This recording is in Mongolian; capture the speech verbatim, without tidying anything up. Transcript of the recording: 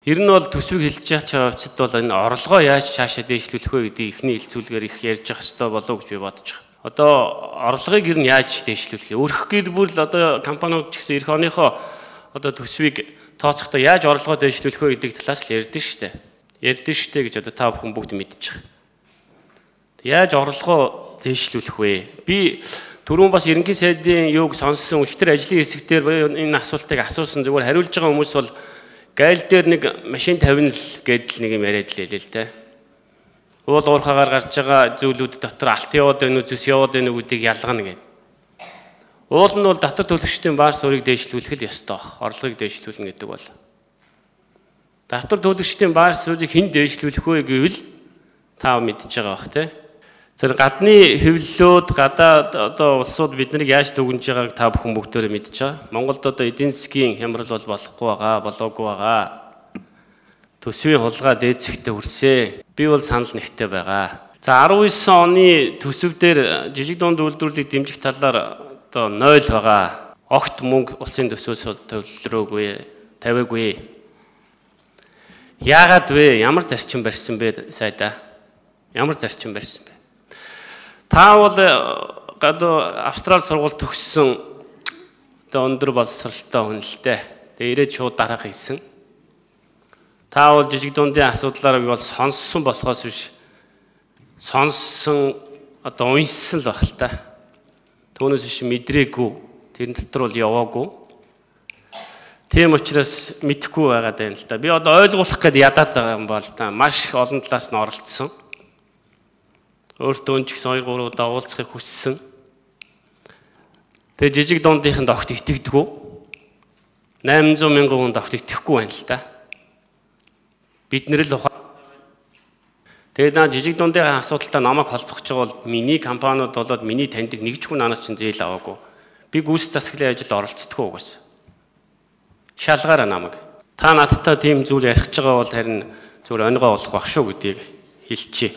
Ер нь бол төсвийг хэлж чад бол энэ орлогоо яаж цаашаа дээшлүүлэх вэ гэдэг ихний хэлцүүлгээр их ярьж явах хэрэгтэй болов уу гэж би бодож байна. Одоо орлогыг ер нь яаж дээшлүүлэх вэ? Өрх гэр бүл одоо компаниуд ч гэсэн эх оныхоо одоо төсвийг тооцохдоо яаж орлогоо дээшлүүлэх вэ гэдэг талаас л ярьдэн штэ. Ярьдэн штэ гэж одоо та бүхэн бүгд мэдж байгаа. Яаж орлогоо дээшлүүлэх вэ? Би түрүүн бас ерөнхий сайдын юуг сонссон өчтөр ажлын хэсгээр энэ асуултыг асуусан зүгээр хариулж байгаа хүмүүс бол гайл дээр нэг машин тавина л гэдэл нэг юм яриад л хэлээ л дээ. Уул уурхагаар гарч байгаа зүйлүүд дотор алт яваад байна уу, зүс яваад байна уу гэдгийг ялгана гэдэг. Уул нь бол дотор төлөгчдийн баар суурийг дээшлүүлэх л ёстой баг. Орлогыг дээшлүүлнэ гэдэг бол. Дотор төлөгчдийн баар суурийг хэн дээшлүүлэх вэ гэвэл та мэдж байгаа бах тий. Тэр гадны хэвлэлүүд гадаад одоо улсууд биднийг яаж дүгнж байгааг та бүхэн бүгдээрээ мэдж байгаа. Монголд одоо эдийн засгийн хямрал бол болохгүй байгаа, болоогүй байгаа. Төсвийн хулгай дээцэхтэй хүрсээ. Би бол санал нэгтэй байгаа. За арван девять оны төсөв дээр жижиг дунд үйлдвэрлэлийг дэмжих талаар одоо нуль байгаа. Огт мөнгө улсын төсвөөс төвлөрөөгүй, тавиагүй. Яагаад вэ? Ямар зарчим барьсан бэ сайдаа? Ямар зарчим барьсан бэ? Та бол гадуу Австрали сургууль төгссөн одоо өндөр боловсролтой хүн л дээ. Тэгээ ирээд шууд дараах хийсэн. Та бол жижиг дундын асуудлаар би бол сонссон болохоос биш сонссон одоо уншсан л байх л та. Түүнээс биш мэдрээгүй. Тэр дотор бол яваагүй. Тийм учраас мэдэхгүй байгаад байна л та. Би одоо ойлгуулах гээд ядаад байгаа юм бол та маш олон талаас нь оролцсон. Өөртөө ч гэсэн хоёр гурав удаа уулзахыг хүссэн. Тэгээ жижиг дундынханд огт итгэдэггүй. восемь сая мянган хүнд огт итгэхгүй байна л да. Бид нэр л ухаан. Тэгээ наа жижиг дундын асуудалтай намайг холбох гэж байгаа бол миний компаниуд болоод миний таньдаг нэг ч хүн анаас чинь зээл аваагүй. Би гүйс засаглалын ажилд оролцдоггүй угаас. Шалгаараа намайг. Та надтай тийм зүйл ярих гэж байгаа бол харин зүгээр онигоо болох байх шүү гэдгийг хэлчихье.